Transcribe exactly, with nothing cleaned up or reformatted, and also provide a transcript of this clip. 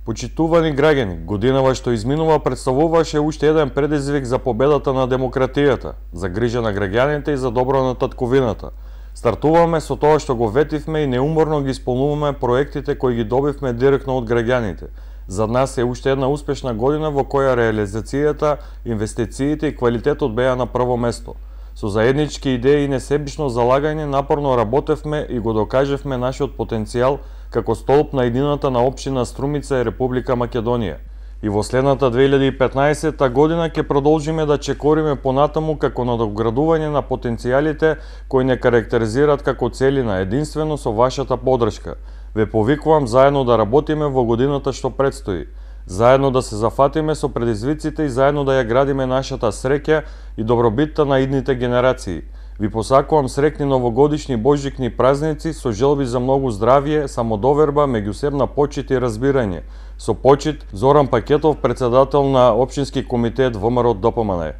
Почитувани граѓани, годинава што изминува представуваше уште еден предизвик за победата на демократијата, за грижа на граѓаните и за добро на татковината. Стартуваме со тоа што го ветивме и неуморно ги исполнуваме проектите кои ги добивме директно од граѓаните. За нас е уште една успешна година во која реализацијата, инвестициите и квалитетот беа на прво место. Со заеднички идеи и несебично залагање напорно работевме и го докажевме нашиот потенцијал како столб на едината на општина Струмица и Република Македонија. И во следната две илјади и петнаесетта година ќе продолжиме да чекориме понатаму како надоградување на потенцијалите кои не карактеризираат како целина, единствено со вашата поддршка. Ве повикувам заедно да работиме во годината што предстои. Заедно да се зафатиме со предизвиците и заедно да ја градиме нашата среќа и добробитта на идните генерации. Ви посакувам срекни новогодишни божикни празници со желби за многу здравје, самодоверба, меѓусебна почит и разбирање. Со почит, Зоран Пакетов, председател на Општински комитет ВМРО ДПМНЕ.